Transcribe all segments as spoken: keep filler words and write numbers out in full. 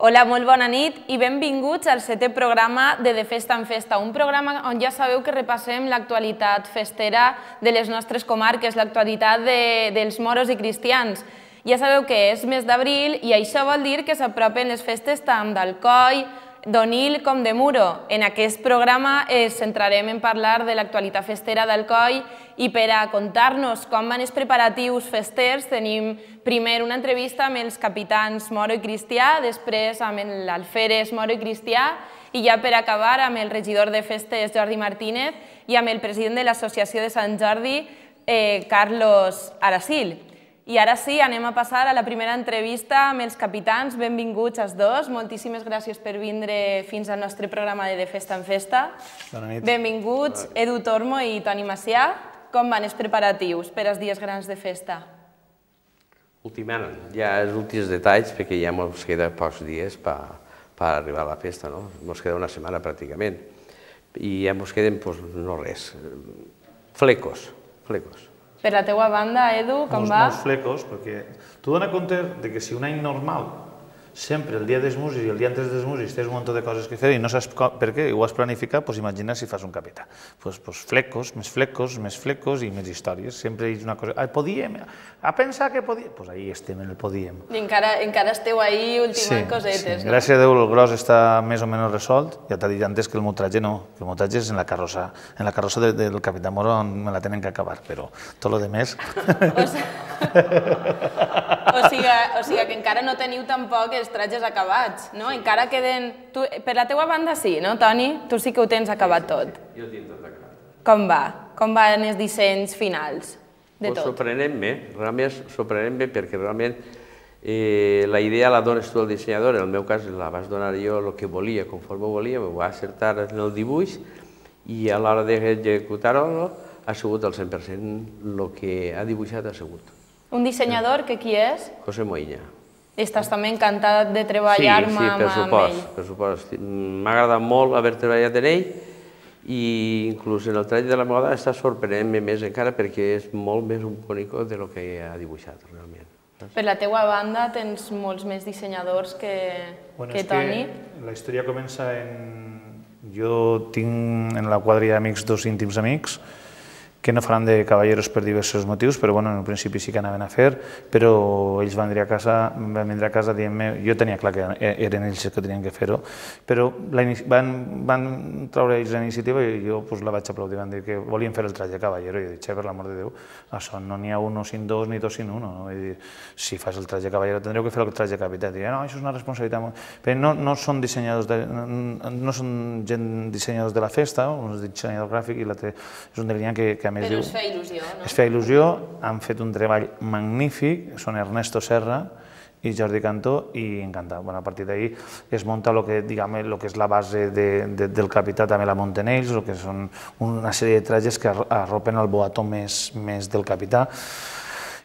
Hola, molt bona nit i benvinguts al setè programa de De Festa en Festa, un programa on ja sabeu que repassem l'actualitat festera de les nostres comarques, l'actualitat dels moros i cristians. Ja sabeu que és mes d'abril i això vol dir que s'apropen les festes tant d'Alcoi, d'Onil com de Muro. En aquest programa ens centrarem en parlar de l'actualitat festera d'Alcoi i per a contar-nos com van els preparatius festers tenim primer una entrevista amb els capitans Moro i Cristià, després amb l'alferes Moro i Cristià i ja per acabar amb el regidor de festes Jordi Martínez i amb el president de l'Associació de Sant Jordi, Carlos Aracil. I ara sí, anem a passar a la primera entrevista amb els capitans. Benvinguts els dos. Moltíssimes gràcies per vindre fins al nostre programa de De Festa en Festa. Bona nit. Benvinguts Edu Tormo i Toni Macià. Com van els preparatius per als dies grans de festa? Ultimant ja els últims detalls, perquè ja ens queda pocs dies per arribar a la festa, no? Ens queda una setmana pràcticament. I ja ens queden, no res, flecos, flecos. Per la teua banda, Edu, com va? Molts flecos, perquè tu dona compte que si un any normal, sempre el dia dels músics i el dia antes dels músics tens un munt de coses que fer i no saps per què, i ho has planificat, doncs imagina si fas un capità. Doncs flecos, més flecos, més flecos i més històries. Sempre és una cosa... Podíem, a pensar que podíem... Doncs ahí estem, en el podíem. I encara esteu ahí ultimant cosetes, no? Gràcies a Déu el gros està més o menys resolt. Ja t'ha dit antes que el motratge no, que el motratge és en la carrossa. En la carrossa del capità Moro me la tenen que acabar, però tot el demés... O sigui que encara no teniu tampoc els trajes acabats, no? Encara queden... Per la teua banda sí, no, Toni? Tu sí que ho tens acabat tot. Jo ho tinc tot acabat. Com va? Com van els dissenys finals de tot? Sorprenent bé, realment sorprenent bé, perquè realment la idea la dones tu al dissenyador, en el meu cas la vas donar jo el que volia, conforme volia, m'ho va acertar en el dibuix i a l'hora d'executar-ho ha sigut el cent per cent el que ha dibuixat ha sigut. Un dissenyador que qui és? José Moïna. Estàs també encantat de treballar amb ell? Sí, per supost, per supost. M'ha agradat molt haver treballat en ell i inclús en el treball de la moda està sorprenent-me més encara perquè és molt més un bonic del que ha dibuixat realment. Per la teua banda tens molts més dissenyadors que Toni? La història comença en... Jo tinc en la quadrilla d'amics dos íntims amics que no faran de cavalleros per diversos motius, però en un principi sí que anaven a fer, però ells van vindre a casa, van vindre a casa dient-me, jo tenia clar que eren ells que tenien que fer-ho, però van treure ells la iniciativa i jo la vaig aplaudir, van dir que volien fer el traje de cavallero, i jo dic, per l'amor de Déu, això no n'hi ha un sin dos ni dos sin uno, si fas el traje de cavallero tindreu que fer el traje de capità, i no, això és una responsabilitat, però no són dissenyadors, no són gent dissenyadors de la festa, un és dissenyador gràfic i l'altre és un de línia que però es feia il·lusió, no? Es feia il·lusió, han fet un treball magnífic, són Ernesto Serra i Jordi Cantó, i encantat. A partir d'ahir es munta el que és la base del capità, també la munten ells, que són una sèrie de trajes que arropen el boató més del capità.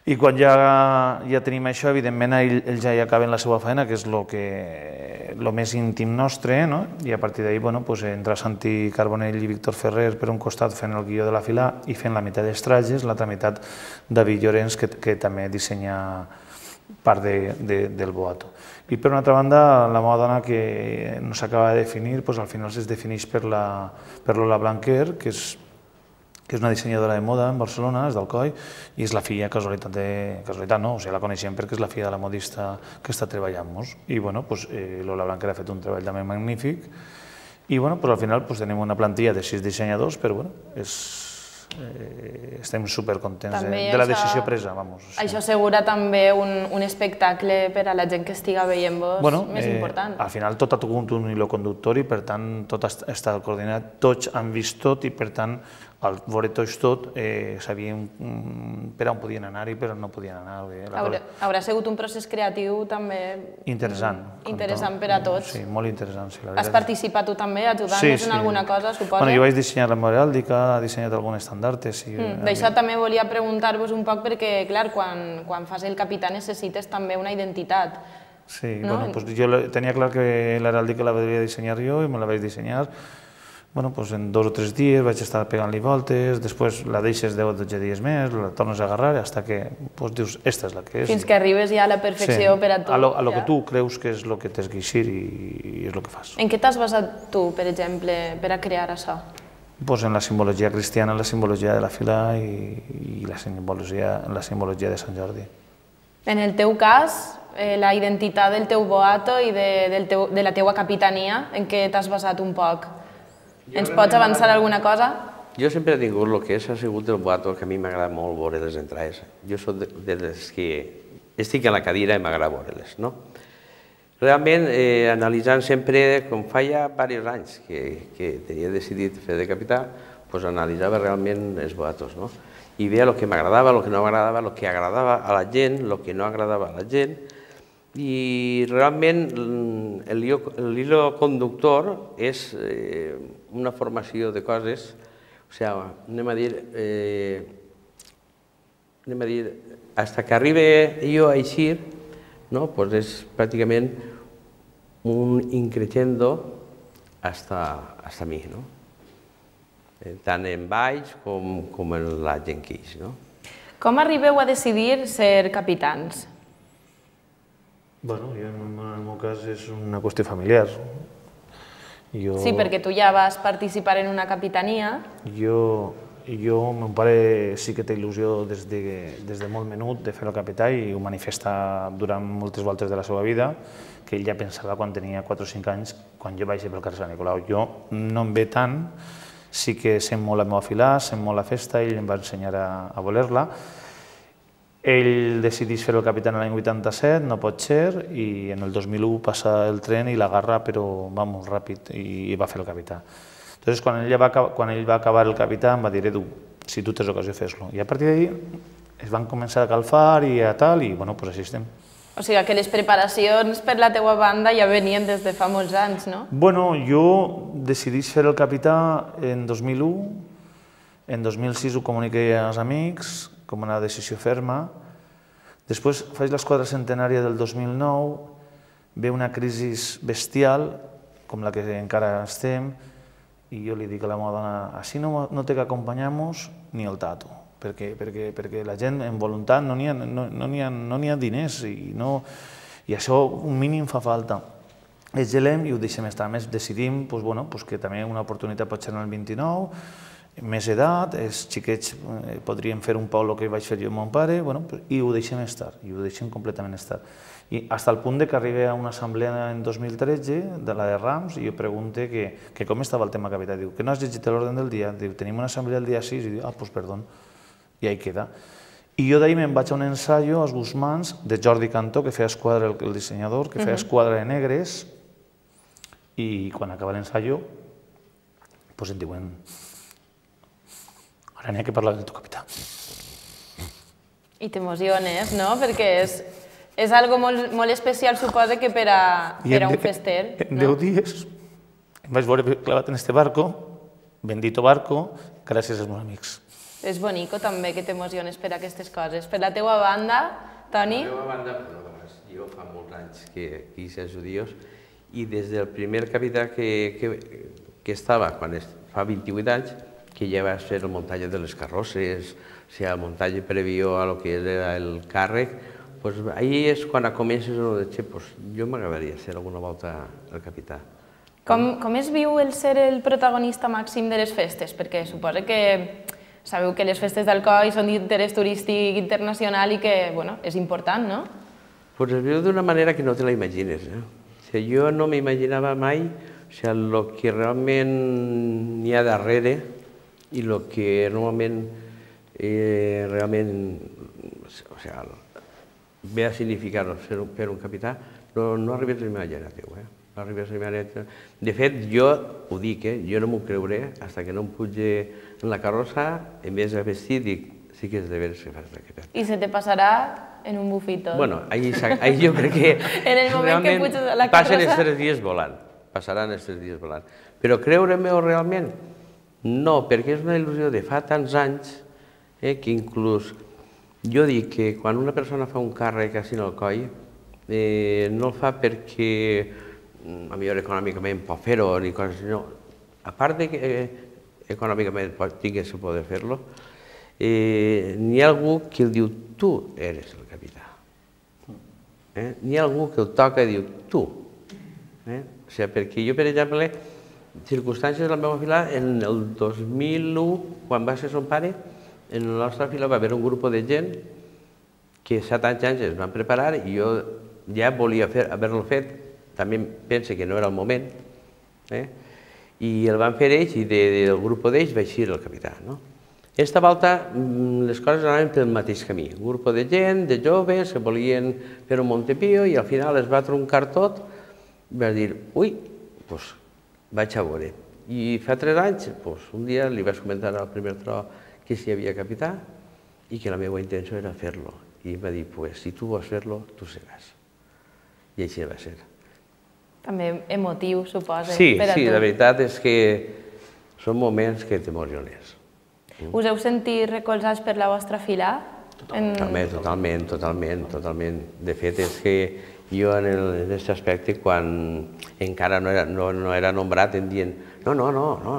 I quan ja tenim això, evidentment, ells ja hi acaben la seva feina, que és el més íntim nostre, i a partir d'ahir entra Santi Carbonell i Víctor Ferrer per un costat fent el guió de la fila i fent la meitat dels trajes, l'altra meitat David Llorenç, que també dissenya part del boato. I per una altra banda, la moda dona que no s'acaba de definir, al final es defineix per Lola Blanquer, que és que és una dissenyadora de moda en Barcelona, és d'Alcoi, i és la filla, casualitat de... casualitat no, o sigui, la coneixem perquè és la filla de la modista que està treballant-nos. I, bueno, Lola Blanquer ha fet un treball també magnífic, i, bueno, al final tenim una plantilla de sis dissenyadors, però, bueno, estem supercontents de la decisió presa, vamos. Això assegura també un espectacle per a la gent que estiga veient-vos més important. Al final tot ha tingut un hilo conductor i, per tant, tot està coordinat, tots han vist tot i, per tant, al veure tots tot, sabíem per on podien anar i per on no podien anar. Haurà sigut un procés creatiu també... Interessant. Interessant per a tots. Sí, molt interessant. Has participat tu també ajudant-nos en alguna cosa, suposa? Jo vaig dissenyar l'heràldica, he dissenyat algun estandarte. D'això també volia preguntar-vos un poc perquè, clar, quan fas el capità necessites també una identitat. Sí, jo tenia clar que l'heràldica la devia dissenyar jo i me la vaig dissenyar. bueno, doncs en dos o tres dies vaig estar pegant-li voltes, després la deixes deu o dotze dies més, la tornes a agarrar, fins que doncs, dius, esta és la que és. Fins que arribes ja a la perfecció sí, per a tu. A lo, a lo que tu creus que és el que t'has guixir i, i és el que fas. En què t'has basat tu, per exemple, per a crear això? Pues en la simbologia cristiana, en la simbologia de la fila i, i la, simbologia, en la simbologia de Sant Jordi. En el teu cas, eh, la identitat del teu boato i de, del teu, de la teua capitania, en què t'has basat un poc? Ens pots avançar alguna cosa? Jo sempre he tingut el que és, ha sigut el boato, que a mi m'agrada molt veure les entrades. Jo soc de, de les que estic a la cadira i m'agrada veure-les, no? Realment, eh, analitzant sempre, com fa ja diversos anys que, que tenia decidit fer de capità, doncs analitzava realment els boatos, no? I veia el que m'agradava, el que no m'agradava, el que agradava a la gent, el que no agradava a la gent, i realment el hilo conductor és eh, una formació de coses, o sigui, anem a dir, eh, anem a dir, fins que arribi jo a eixir, no? Pues és pràcticament un increixendo hasta, hasta mi, no? Tant en baix com, com en la gent que ix, no? Com arribeu a decidir ser capitans? Bueno, jo, en el meu cas és una qüestió familiar. Jo, sí, perquè tu ja vas participar en una capitania. Jo, jo mon pare sí que té il·lusió des de, des de molt menut de fer el capità i ho manifesta durant moltes voltes de la seva vida, que ell ja pensava quan tenia quatre o cinc anys, quan jo vaig pel carrer Sant Nicolau. Jo no em ve tant, sí que sent molt la meva filà, sent molt la festa, ell em va ensenyar a, a voler-la. Ell decideix fer el capità l'any vuitanta-set, no pot ser, i en el dos mil u passa el tren i l'agarra, però va molt ràpid, i va fer el capità. Llavors, quan ell va, quan ell va acabar el capità, em va dir, Edu, si tu tens ocasió, fes-lo. I a partir d'ahir es van començar a calfar i a tal, i bueno, doncs així estem. O sigui que les preparacions per la teua banda ja venien des de fa molts anys, no? Bueno, jo decidís fer el capità en dos mil u, en dos mil sis ho comuniqué als amics, com una decisió ferma. Després faig l'esquadra centenària del dos mil nou, ve una crisi bestial, com la que encara estem, i jo li dic a la meva dona, així no, no té que acompanyar-nos ni el tato, perquè, perquè, perquè la gent en voluntat no n'hi ha, no, no ha, no ha diners i, no, i això un mínim fa falta. Es gelem i ho deixem estar. A més, decidim doncs, bueno, doncs que també una oportunitat pot ser en el vint-i-nou, més edat, els xiquets eh, podrien fer un poc el que vaig fer jo amb mon pare, bueno, i ho deixem estar, i ho deixem completament estar. I fins al punt de que arribi a una assemblea en dos mil tretze, de la de Rams, i jo pregunte que, que com estava el tema capità. Diu, que no has llegit l'ordre del dia? Diu, tenim una assemblea el dia sis, i diu, ah, doncs perdó, i ahí queda. I jo d'ahir me'n vaig a un ensaio als Guzmans de Jordi Cantó, que feia esquadra, el dissenyador, que feia esquadra de negres, i quan acaba l'ensaio, doncs em diuen, ara n'hi ha que parlar del teu capità. I t'emociones, no? Perquè és, és algo molt, molt especial, suposa, que per a, per a un fester. En deu dies em vaig veure clavat en este barco, bendito barco, gràcies als meus amics. És bonico també que t'emociones per aquestes coses. Per la teua banda, Toni? Per la meva banda, jo fa molts anys que hice els judíos i des del primer capità que, que, que estava, quan fa vint-i-vuit anys, que ja va ser el muntatge de les carrosses, o sigui, el muntatge previó a lo que era el càrrec, doncs ahí és quan comences a dir, pues, jo m'agradaria ser alguna volta el capità. Com, com es viu el ser el protagonista màxim de les festes? Perquè suposa que sabeu que les festes d'Alcoi són d'interès turístic internacional i que, bueno, és important, no? Pues es viu d'una manera que no te la imagines. Eh? O sigui, jo no m'imaginava mai o sigui, el que realment n'hi ha darrere i el que normalment eh, realment o sigui, ve a significar ser un, per un capità, no, no arribes a imaginar-t'ho. Eh? No arribes a imaginar-t'ho. De fet, jo ho dic, eh? Jo no m'ho creuré fins que no em puge en la carrossa, en vez de vestir, dic, sí que és de veres que fas de capità. I se te passarà en un bufito. Bueno, ahí, ahí jo crec que en el moment que puges a la carrossa passen els tres dies volant, passaran els tres dies volant. Però creure-m'ho realment, no, perquè és una il·lusió de fa tants anys eh, que inclús jo dic que quan una persona fa un càrrec així en el coll, eh, no el fa perquè a millor econòmicament pot fer-ho ni coses, no. a part de que econòmicament tingués el poder fer-lo, n'hi ha algú que el diu, tu eres el capità. N'hi ha algú que el toca i diu, tu. O sigui, perquè jo, per exemple, circumstàncies de la meva fila, en el dos mil u, quan va ser son pare, en la nostra fila va haver un grup de gent que set anys es van preparar i jo ja volia haver-lo fet, també pense que no era el moment, i el van fer ells i del grup d'ells vaig ser el capità. Aquesta volta les coses anaven pel mateix camí. Un grup de gent, de joves, que volien fer un Montepío i al final es va troncar tot i vaig dir, ui, doncs vaig a veure. I fa tres anys, un dia li vaig comentar al primer tro que si hi havia capità i que la meva intenció era fer-lo. I em va dir, pues, si tu vols fer-lo, tu seràs. I així va ser. També emotiu, suposa, sí, per a tu. Sí, la veritat és que són moments que t'emociones. Us heu sentit recolzats per la vostra fila? Totalment, totalment, totalment, totalment. De fet, és que jo en aquest aspecte, quan encara no era, no, no era nombrat, em diuen, no, no, no, no,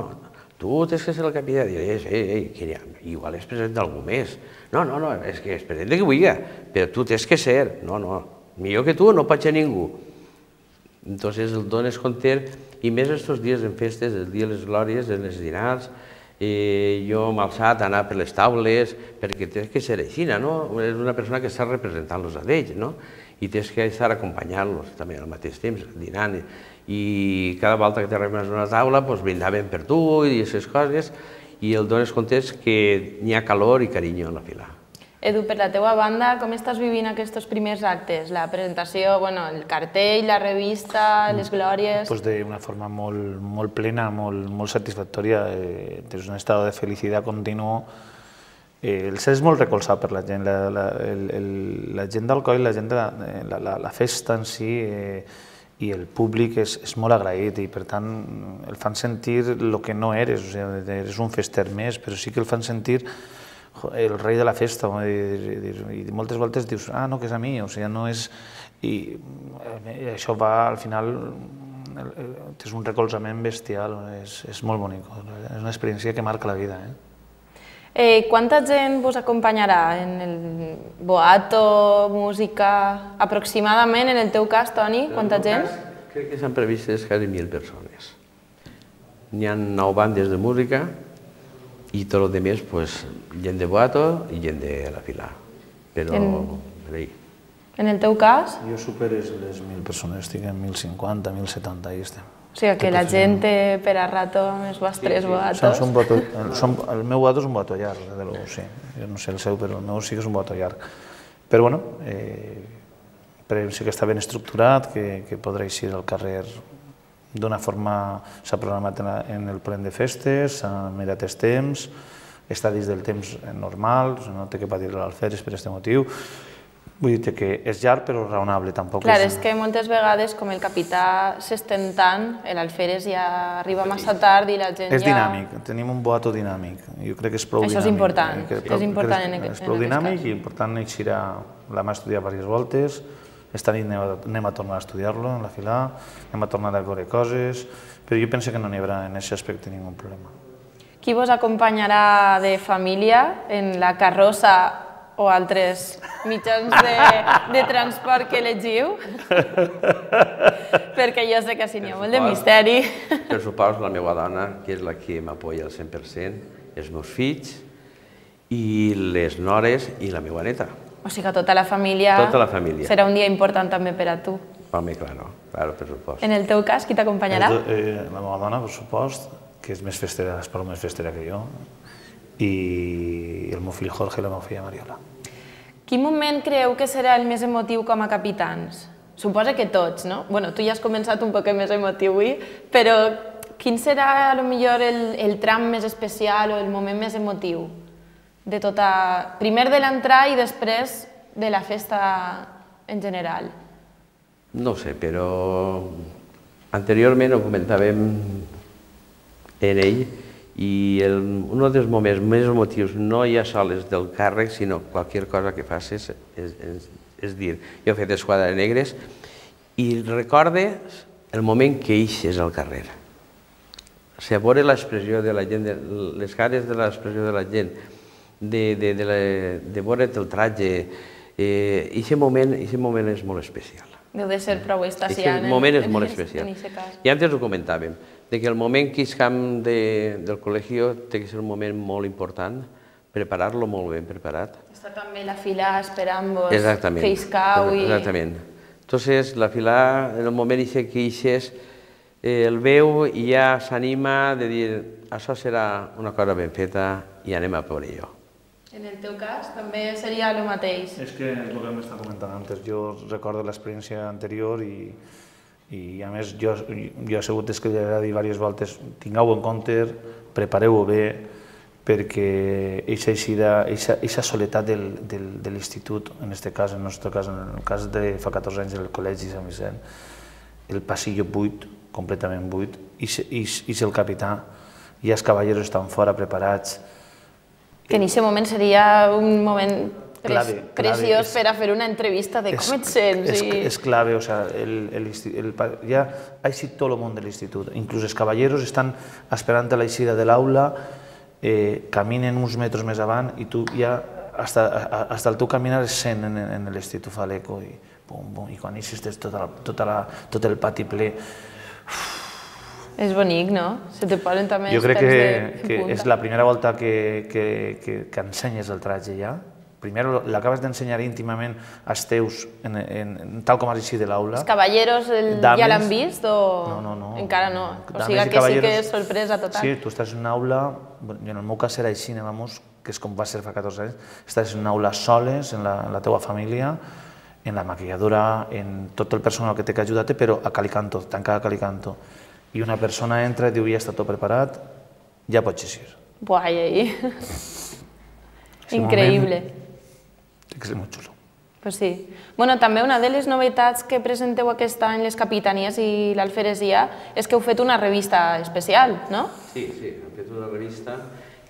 tu tens que ser el capità. I diré, ei, ei, que igual és present d'algú més. No, no, no, és que és present de qui vulgui, però tu tens que ser. No, no, millor que tu no pot ser ningú. Entonces el dones compte, i més estos dies en festes, el dia de les glòries, en les dinars, jo m'he alçat a anar per les taules, perquè tens que ser així, no? És una persona que està representant-los a ells, no? I tens que estar acompanyant-los també al mateix temps, dinant. I cada volta que t'arribaves a una taula, brindaven per tu i aquestes coses, i el dones compte que n'hi ha calor i carinyo en la fila. Edu, per la teua banda, com estàs vivint aquests primers actes? La presentació, el cartell, la revista, les glòries... D'una forma molt plena, molt satisfactòria, des d'un estat de felicitat continu. El ser és molt recolzat per la gent, la gent d'Alcoi, la gent de la festa en si i el públic és molt agraït i per tant el fan sentir el que no eres, eres un fester més, però sí que el fan sentir el rei de la festa, i moltes voltes dius, ah, no, que és a mi, o sigui, no és... I això va, al final, és un recolzament bestial, és molt bonic, és una experiència que marca la vida. Quanta gent vos acompanyarà en el boato, música, aproximadament, en el teu cas, Toni, quanta gent? Crec que s'han previstes quasi mil persones. N'hi ha nou bandes de música, i tot el demés, gent de boato i gent de la fila. Però... En el teu cas? Jo superes les mil persones, estic en mil cinquanta, mil setanta, i estem. O sigui que la gent té per a rato amb els vostres boatos. El meu boato és un boato llarg, de lo sí. Jo no sé el seu, però el meu sí que és un boato llarg. Però, bueno, sí que està ben estructurat, que podrà eixir al carrer d'una forma, s'ha programat en el plen de festes, s'ha mirat els temps, està dins del temps normal, no té que patir l'alferes per aquest motiu. Vull dir que és llarg però raonable, tampoc és... Clar, és que moltes vegades, com el capità s'estén tant, l'alferes ja arriba massa tard i la gent ja... És dinàmic, tenim un boato dinàmic, jo crec que és prou dinàmic. Això és important, és important en aquest cas. És prou dinàmic i per tant eixirà, l'hem estudiat diverses voltes, esta nit anem a tornar a estudiar-lo en la fila, anem a tornar a veure coses, però jo penso que no n'hi haurà en aquest aspecte ningú problema. Qui vos acompanyarà de família en la carrossa o altres mitjans de transport que elegiu? Perquè jo sé que si n'hi ha molt de misteri. Per suposo la meva dona, que és la que m'apoya al cent per cent, els meus fills i les nores i la meva neta. O sigui que tota la família... Tota la família. Serà un dia important també per a tu. Home, claro, claro, per supost. En el teu cas, qui t'acompanyarà? La meva dona, per supost, que és més festera, és prou més festera que jo, i el meu fill Jorge i la meva filla Mariola. Quin moment creu que serà el més emotiu com a capitans? Suposa que tots, no? Bueno, tu ja has començat un poc més emotiu avui, però quin serà, potser, el tram més especial o el moment més emotiu? De tota... Primer de l'entrar i després de la festa en general. No sé, però anteriorment ho comentàvem en ell i un dels moments més emotius no ja sols del càrrec, sinó qualsevol cosa que facis, és dir, jo he fet Esquadra de Negres i recordes el moment que eixes al carrer. si a veure l'expressió de la gent, les cares de l'expressió de la gent, de veure't el tratge, aquest moment és molt especial. Deu de ser prou extasiant. Aquest moment és molt especial. I antes ho comentàvem, que el moment que iscam del col·legi té que ser un moment molt important, preparar-lo molt ben preparat. Està també la fila esperant-vos que iscau. Exactament. Entonces, la fila, en el moment que ixes, el veu i ja s'anima de dir això serà una cosa ben feta i anem a per jo. En el teu cas també seria el mateix. És que és el que m'estava comentant antes. Jo recordo l'experiència anterior i, i a més jo, jo he sigut que li he dit diverses voltes tingueu en compte, prepareu-ho bé, perquè aquesta soledat del, del, de l'institut, en aquest cas, en el nostre cas, en el cas de fa catorze anys del Col·legi Sant Vicent, el passillo buit, completament buit, i és el capità, i els cavalleros estan fora preparats. Que en aquest moment seria un moment preciós per a fer una entrevista de com et sents. És clave, o sigui, ja ha eixit tot el món de l'institut, inclús els cavalleros estan esperant a l'eixida de l'aula, caminen uns metres més avant i tu ja, fins al teu caminar es sent en l'institut, fa l'eco i quan eixes tot el pati ple. És bonic, no? Se te posen també els pèls de punta. Jo crec que és la primera volta que ensenyes el tratge ja. Primer l'acabes d'ensenyar íntimament als teus, tal com has eixit de l'aula. Els cavalleros ja l'han vist o encara no? O sigui que sí que és sorpresa total. Sí, tu estàs en una aula, en el meu cas era així, que és com va ser fa catorze anys, estàs en una aula soles, en la teua família, en la maquilladora, en tot el personal que té que ajudar-te, però a calicanto, tancat a calicanto. I una persona entra i diu, ja està tot preparat, ja pots eixir. Buah, i ahí... Increïble. Té que ser molt xulo. Pues sí. Bueno, també una de les novetats que presenteu aquest any les capitanies i l'alferesia és que heu fet una revista especial, no? Sí, sí, hem fet una revista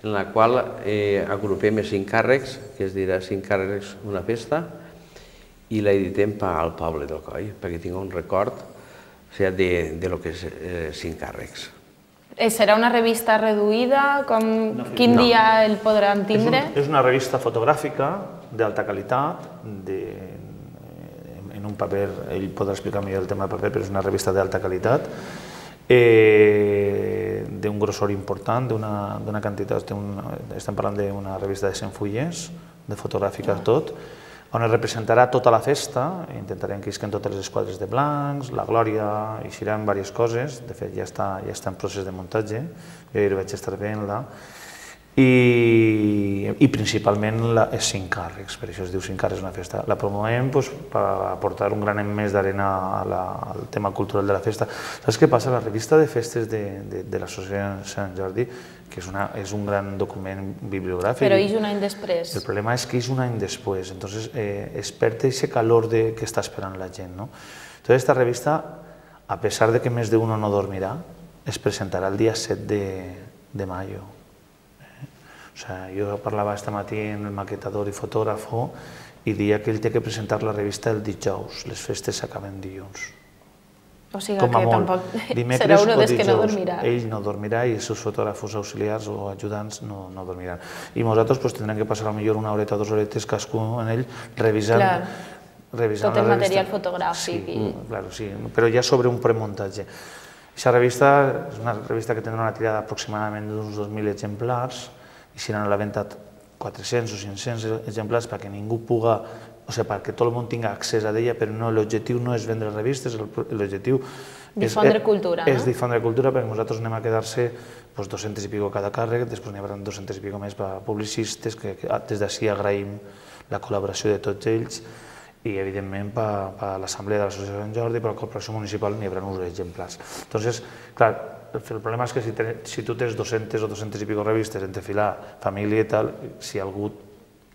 en la qual agrupem els cinc càrrecs, que es dirà cinc càrrecs una festa, i la editem al poble del Coll, perquè tinc un record de lo que és cinc càrrecs. Serà una revista reduïda? Quin dia el podran tindre? És una revista fotogràfica d'alta qualitat, en un paper, ell podrà explicar millor el tema del paper, però és una revista d'alta qualitat, d'un grossor important, d'una quantitat, estem parlant d'una revista de cent fulles, de fotogràfica tot, on es representarà tota la festa, intentarem que isquen totes les esquadres de blancs, la glòria, eixiran diverses coses, de fet ja està en procés de muntatge, jo hi vaig estar veient-la, i principalment els cinc càrrecs, per això es diu cinc càrrecs una festa. La promovem per aportar un granet més d'arena al tema cultural de la festa. Saps què passa? La revista de festes de l'Associació Sant Jordi, que és un gran document bibliogràfic. Però és un any després. El problema és que és un any després, entonces es perd aquest calor que està esperant la gent. Entonces esta revista, a pesar de que més d'uno no dormirà, es presentarà el dia set de mayo. Jo parlava aquest matí amb el maquetador i fotògrafo i deia que ell té que presentar la revista el dijous, les festes s'acaben dilluns. O sigui que tampoc serà un dels que no dormirà. Ell no dormirà i els seus fotògrafos auxiliars o ajudants no dormiran. I nosaltres tindrem que passar potser una horeta o dues horetes cadascú en ell revisant la revista. Tot el material fotogràfic. Sí, però ja sobre un premuntatge. Aquesta revista és una revista que tindrà una tirada aproximadament d'uns dos mil exemplars i seran a la venda quatre-cents o cinc-cents exemplars perquè ningú puga, o sigui, perquè tot el món tinga accés a ella, però l'objectiu no és vendre revistes, l'objectiu difondre cultura, no? És difondre cultura, perquè nosaltres anem a quedar-se dos-cents i pico cada càrrec, després n'hi haurà dos-cents i pico més per a publicistes, que des d'ací agraïm la col·laboració de tots ells, i evidentment per a l'Assemblea de l'Associació Sant Jordi, per a la Corporació Municipal n'hi haurà uns exemplars. Entonces, clar, el problema és que si tu tens dos-centes o dos-cents i pico revistes entre filar, família i tal, si algú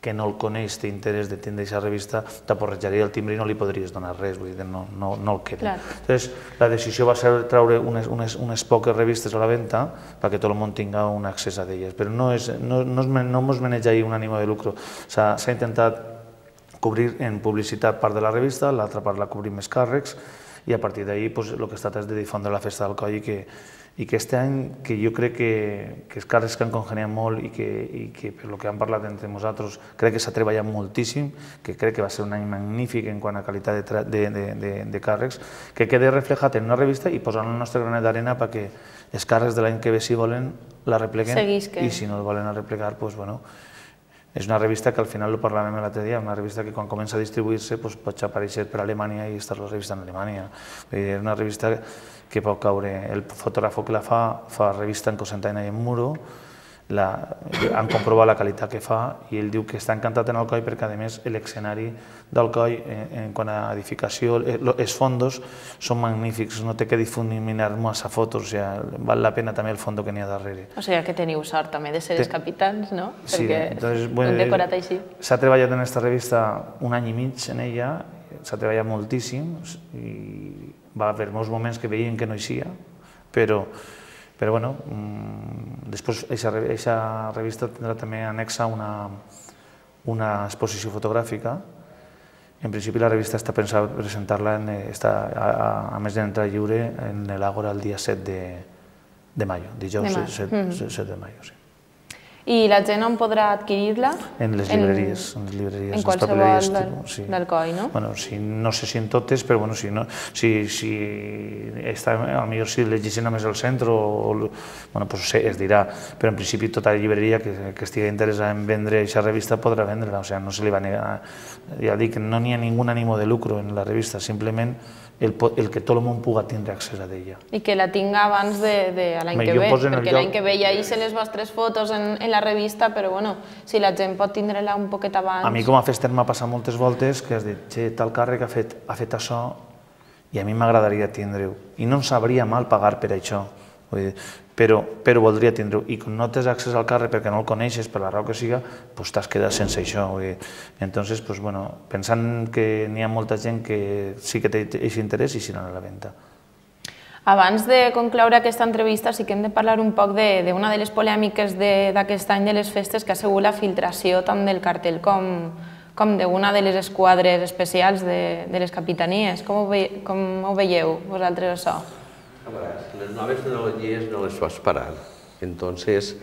que no el coneix té interès de tindre aquesta revista, t'aporrejaria el timbre i no li podries donar res, vull dir, no el queda. Entonces, la decisió va ser treure unes poques revistes a la venda perquè tot el món tinga un accés a elles, però no ens maneja ahir un ànima de lucro. S'ha intentat cobrir en publicitat part de la revista, l'altra part la cobrim més càrrecs, i a partir d'ahir el que he estat és de difondre la festa del coll i que i que aquest any, que jo crec que, que els càrrecs que han congeniat molt i que, i que per el que hem parlat entre nosaltres crec que s'ha treballat moltíssim, que crec que va ser un any magnífic en quant a qualitat de, de, de, de, de càrrecs, que quede reflejat en una revista i posant el nostre granet d'arena perquè els càrrecs de l'any que ve, si volen, la repleguen i si no el volen replegar, doncs, bueno, és una revista que al final, ho parlàvem l'altre dia, una revista que quan comença a distribuir-se pot aparèixer per Alemanya i estar la revista en Alemanya. És una revista que pot caure, el fotògraf que la fa, fa revista en Cosentino i en Muro, han comprovat la qualitat que fa i ell diu que està encantat en Alcoi perquè, a més, l'escenari d'Alcoi, en quant a edificació, els fondos són magnífics, no té que difuminar massa fotos, val la pena també el fondo que n'hi ha darrere. O sigui que teniu sort també de ser els capitans, no? Sí, perquè hem decorat així. S'ha treballat en aquesta revista un any i mig en ella, s'ha treballat moltíssim i va haver molts moments que veien que no hi sia, però Però, bueno, després aquesta revista tindrà també anexa una exposició fotogràfica. En principi la revista està pensada per presentar-la, a més d'entrar lliure, en l'Àgora el dia set de maio, dijous set de maio. I la gent on podrà adquirir-la? En les llibreries, en les llibreries, en qualsevol del coll, no? Bueno, no sé si en totes, però bueno, si està, potser si llegeixen només al centre, bueno, doncs es dirà, però en principi tota la llibreria que estigui interessada en vendre aquesta revista podrà vendre-la, o sigui, no se li va negar, ja dic, no n'hi ha ningun ànimo de lucro en la revista, simplement el que tot el món pugui tindre accés a ella. I que la tinga abans de l'any que ve, perquè l'any que ve ja hice les vostres fotos en la revista, però bueno, si la gent pot tindre-la un poquet abans... A mi com a fester m'ha passat moltes voltes que has dit, che, tal càrrec ha fet això i a mi m'agradaria tindre-ho. I no em sabria mal pagar per això, però voldria tindre-ho. I quan no tens accés al càrrec perquè no el coneixes, per la raó que siga, doncs t'has quedat sense això. Entonces, pensant que n'hi ha molta gent que sí que té aquest interès i si no a la venda. Abans de concloure aquesta entrevista, sí que hem de parlar un poc d'una de les polèmiques d'aquest any de les festes, que ha sigut la filtració tant del cartell com d'una de les esquadres especials de les capitanies. Com ho veieu vosaltres, això? Les noves tecnologies no les pots parar. Entonces,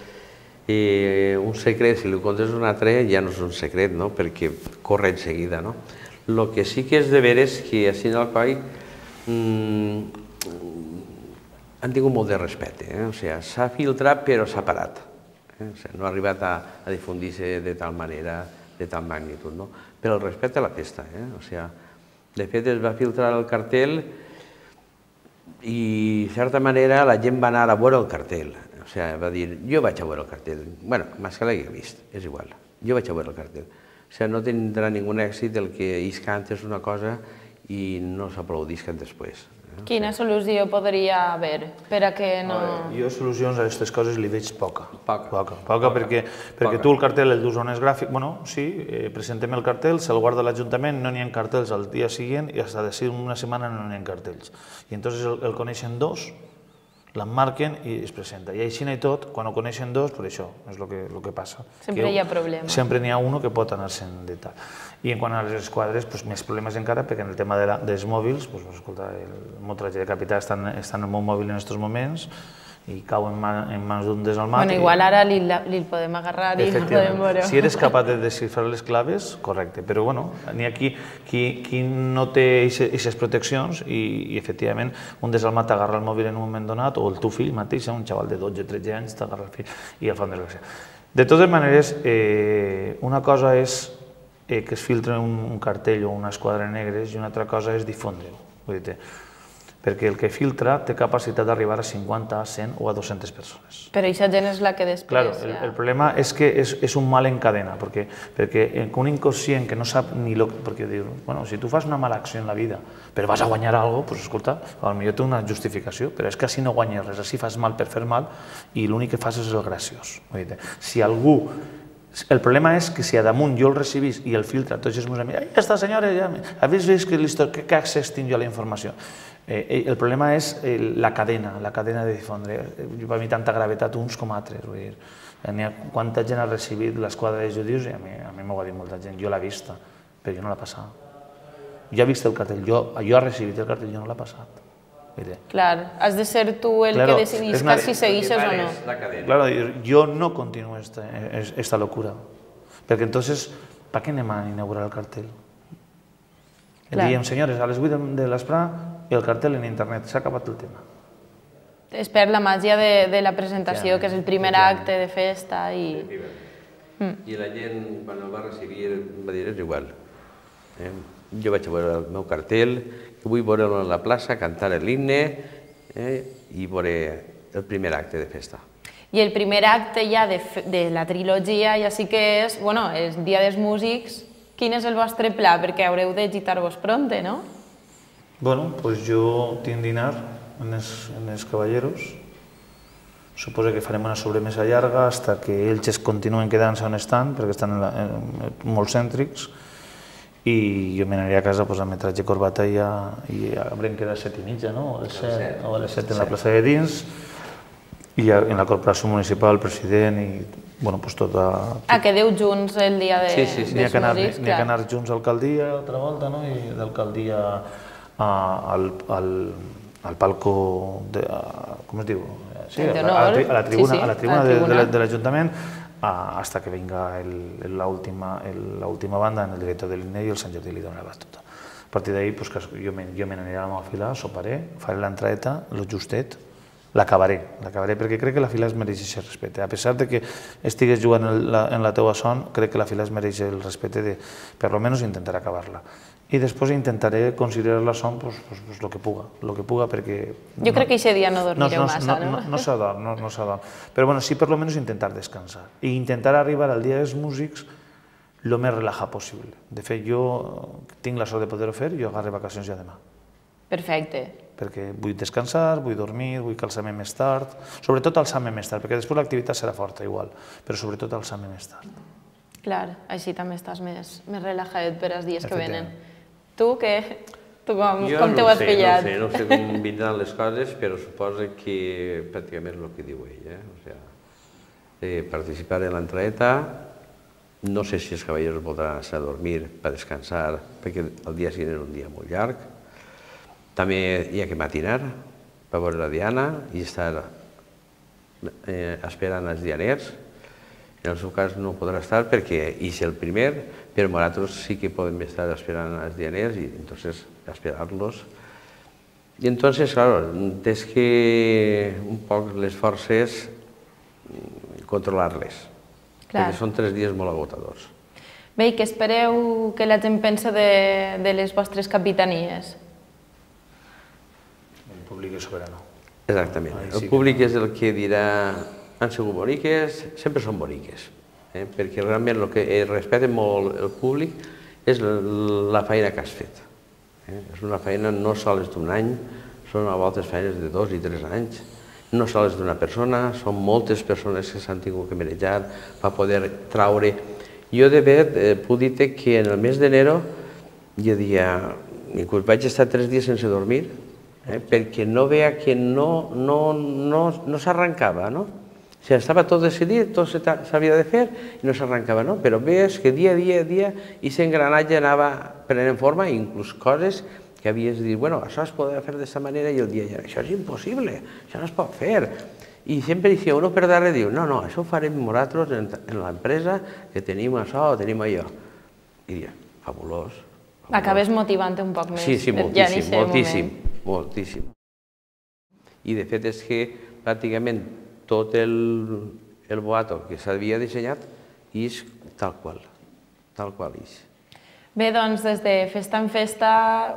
un secret, si li contes un altre, ja no és un secret, perquè corre en seguida. El que sí que és de veres és que així en el coll han tingut molt de respecte. S'ha filtrat però s'ha parat. No ha arribat a difundir-se de tal manera, de tal magnitud. Però el respecte a la festa. De fet, es va filtrar el cartell i, de certa manera, la gent va anar a veure el cartell. O sigui, va dir, jo vaig a veure el cartell. Bé, més que l'hagi vist, és igual. Jo vaig a veure el cartell. O sigui, no tindrà ningú èxit el que ells canten una cosa i no s'aplaudisquen després. Quina solució podria haver per a que no... Jo solucions a aquestes coses li veig poca. Poca. Poca perquè tu el cartell el dus a un gràfic, bueno, sí, presentem el cartell, se'l guarda l'Ajuntament, no n'hi ha cartells al dia següent i fins d'ací una setmana no n'hi ha cartells. I entonces el coneixen dos, l'emmarquen i es presenta. I així i tot, quan ho coneixen dos, per això és el que passa. Sempre hi ha problemes. Sempre n'hi ha un que pot anar-se'n de tal. I en quant a les esquadres, més problemes encara, perquè en el tema dels mòbils, escolta, el trajecte de capità està en el meu mòbil en aquests moments i cau en mans d'un desalmat. Bueno, igual ara li podem agarrar i no podem veure. Si eres capaç de desxifrar les claves, correcte, però bueno, n'hi ha qui no té aquestes proteccions i efectivament un desalmat t'agarra el mòbil en un moment donat o el teu fill mateix, un xaval de dotze o tretze anys t'agarra el fill i el fan desgràcia. De totes maneres, una cosa és que es filtre un cartell o una esquadra negres i una altra cosa és difondre-ho. Perquè el que filtra té capacitat d'arribar a cinquanta, a cent o a dues-centes persones. Però aquesta gent és la que després... Claro, el problema és que és un mal en cadena, perquè un inconscient que no sap ni... Perquè diu, bueno, si tu fas una mala acció en la vida però vas a guanyar alguna cosa, doncs escolta, potser té una justificació, però és que així no guanyes res, així fas mal per fer mal i l'únic que fas és el graciós. Si algú... El problema és que si a damunt jo el recibís i el filtra tots els meus amics, ai, aquesta senyora, habéis vist que accés tinc jo a la informació? El problema és la cadena, la cadena de difondre. Per mi tanta gravetat uns com altres. Quanta gent ha recibit l'esquadra de judius i a mi m'ho ha dit molta gent. Jo l'he vista, però jo no l'he passat. jo he vist el cartell, jo he recibit el cartell, jo no l'he passat. Clar, has de ser tu el que decidisca si segueixes o no. Claro, yo no continúo esta, esta locura. Porque entonces, ¿para qué anem a inaugurar el cartel? Le diem, senyores, a les vuit de l'esprà, el cartel en internet, s'ha acabat el tema. Es perd la màgia de la presentació, que és el primer acte de festa. I la gent, quan el va recibir, va dir, és igual. Jo vaig a veure el meu cartell, vull veure'l a la plaça, cantar l'himne i veure el primer acte de festa. I el primer acte ja de la trilogia ja sí que és, bueno, el Dia dels Músics. Quin és el vostre pla? Perquè haureu de gitar-vos pronte, no? Bueno, doncs jo tinc dinar en els caballeros. Suposo que farem una sobremesa llarga fins que ells es continuen quedant-se on estan, perquè estan molt cèntrics, i jo m'aniré a casa amb metratge i corbata i haurem quedat a set i mitja, no? O a les set en la plaça de dins, i en la corporació municipal, el president i, bueno, doncs tot... Ah, quedeu junts el dia dels músics, clar. N'hi ha que anar junts a l'alcaldia altra volta, no? I d'alcaldia al palco, com es diu? Sí, a la tribuna de l'Ajuntament, hasta que venga la última banda en el director de l'himne i el Sant Jordi li dona la batuta. A partir d'ahí jo me n'aniré a la meva fila, soparé, faré l'entradeta, lo justet, l'acabaré, l'acabaré perquè crec que la fila es mereix aquest respecte. A pesar de que estigues jugant en la teua son, crec que la fila es mereix el respecte de, per almenys, intentar acabar-la. I després intentaré considerar la son el que puga, el que puga perquè... Jo crec que aquest dia no dormireu massa, no? No s'adorm, no s'adorm. Però sí, per almenys, intentar descansar i intentar arribar al Dia dels Músics el més relajat possible. De fet, jo tinc la sort de poder-ho fer i jo agarré vacacions ja demà. Perfecte. Perquè vull descansar, vull dormir, vull calçar-me més tard, sobretot alçar-me més tard, perquè després l'activitat serà forta igual, però sobretot alçar-me més tard. Clar, així també estàs més relajadet per als dies que venen. Tu, què? Tu com t'ho has pillat? Jo no sé com vindran les coses, però suposo que pràcticament és el que diu ell. Participar en l'entradeta, no sé si els cavallers voldran anar a dormir per descansar, perquè el dia següent és un dia molt llarg. També hi ha que matinar per veure la diana i estar esperant els dianers. En el seu cas no podrà estar perquè és el primer, però nosaltres sí que podem estar esperant els dianers i entonces esperar-los. I entonces, claro, tens que un poc les forces controlar-les, perquè són tres dies molt agotadors. Bé, i què espereu que la gent pensa de les vostres capitanies? El públic és soberano. Exactament. El públic és el que dirà han sigut boniques, sempre són boniques, perquè realment el que respecta molt el públic és la feina que has fet. És una feina no sols d'un any, són a voltes feines de dos i tres anys, no sols d'una persona, són moltes persones que s'han tingut que manejar per poder traure. Jo de fet puc dir que en el mes d'enero jo dia, inclús vaig estar tres dies sense dormir, perquè no veia que no s'arrencava, no? O sigui, estava tot decidit, tot s'havia de fer i no s'arrencava, no? Però veies que dia a dia, dia, aquest engranatge anava prenent forma, inclús coses que havies de dir, bueno, això es podrà fer d'aquesta manera, i el dia ja, això és impossible, això no es pot fer. I sempre dicia uno per darrere, diu, no, no, això ho farem nosaltres en l'empresa, que tenim això o tenim allò. I diria, fabulós. Acabes motivant-te un poc més. Sí, sí, moltíssim, moltíssim, moltíssim. I de fet és que pràcticament tot el boato que s'havia dissenyat és tal qual, tal qual és. Bé, doncs des de Festa en Festa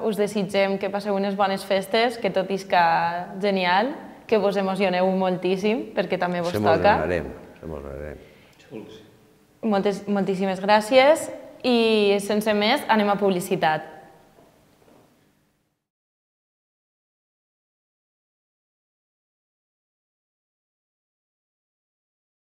us desitgem que passeu unes bones festes, que tot isca genial, que vos emocioneu moltíssim, perquè també vos toca. S'emocionarem, s'emocionarem. Moltíssimes gràcies i sense més anem a publicitat.